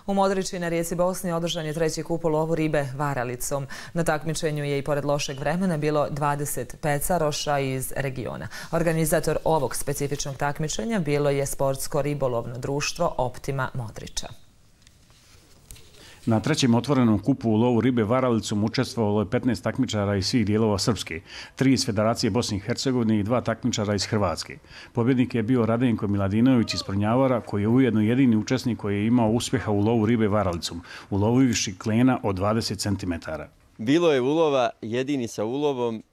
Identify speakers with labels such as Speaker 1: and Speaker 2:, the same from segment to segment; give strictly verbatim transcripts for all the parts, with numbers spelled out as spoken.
Speaker 1: U Modriči na rijeci Bosni održan je treći kup u lovu ribe varalicom. Na takmičenju je i pored lošeg vremena bilo dvadeset pecaroša iz regiona. Organizator ovog specifičnog takmičenja bilo je sportsko ribolovno društvo Optima Modriča.
Speaker 2: Na trećem otvorenom kupu u lovu ribe varalicom učestvovalo je petnaest takmičara iz svih dijelova Srpske, tri iz Federacije Bosne i Hercegovine i dva takmičara iz Hrvatske. Pobjednik je bio Radenko Miladinović iz Prnjavora, koji je ujedno jedini učesnik koji je imao uspjeha u lovu ribe varalicom, ulovivši klena od dvadeset centimetara.
Speaker 3: Bilo je ulova, jedini sa ulovom.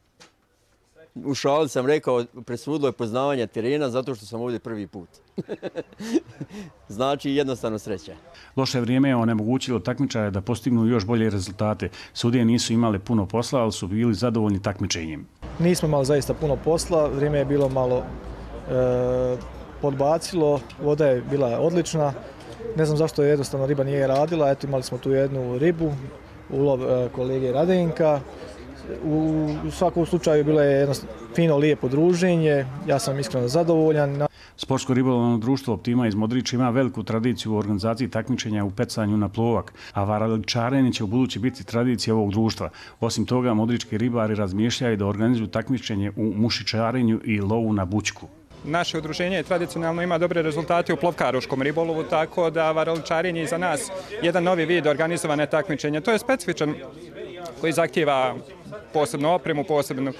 Speaker 3: U šali sam rekao, presudilo je poznavanje terena zato što sam ovdje prvi put. Znači jednostavno sreća.
Speaker 2: Loše vrijeme je onemogućilo takmičare da postignu još bolje rezultate. Sudije nisu imale puno posla, ali su bili zadovoljni takmičenjem.
Speaker 4: Nismo imali zaista puno posla, vrijeme je bilo malo e, podbacilo, voda je bila odlična. Ne znam zašto jednostavno riba nije radila, eto imali smo tu jednu ribu, ulov e, kolege Radenka. U svakom slučaju bilo je jedno fino, lijepo druženje, ja sam iskreno zadovoljan.
Speaker 2: Sportsko ribolovno društvo Optima iz Modriča ima veliku tradiciju u organizaciji takmičenja u pecanju na plovak, a varaličarenje će u budući biti tradicija ovog društva. Osim toga, modrički ribari razmišljaju da organizuju takmičenje u mušičarenju i lovu na bućku.
Speaker 5: Naše udruženje tradicionalno ima dobre rezultate u plovkaroškom ribolovu, tako da varaličarenje je za nas jedan novi vid organizovane takmičenja. To je specifičan koji zahtijeva posebnu opremu, posebnu,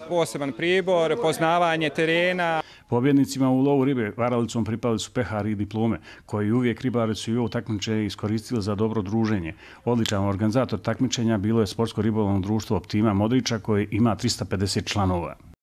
Speaker 5: poseban pribor, poznavanje terena.
Speaker 2: Pobjednicima u lovu ribe varalicom pripali su pehari i diplome, koji uvijek ribari su i ovo takmičenje iskoristili za dobro druženje. Odličan organizator takmičenja bilo je sportsko ribolovno društvo Optima Modriča, koje ima trista pedeset članova.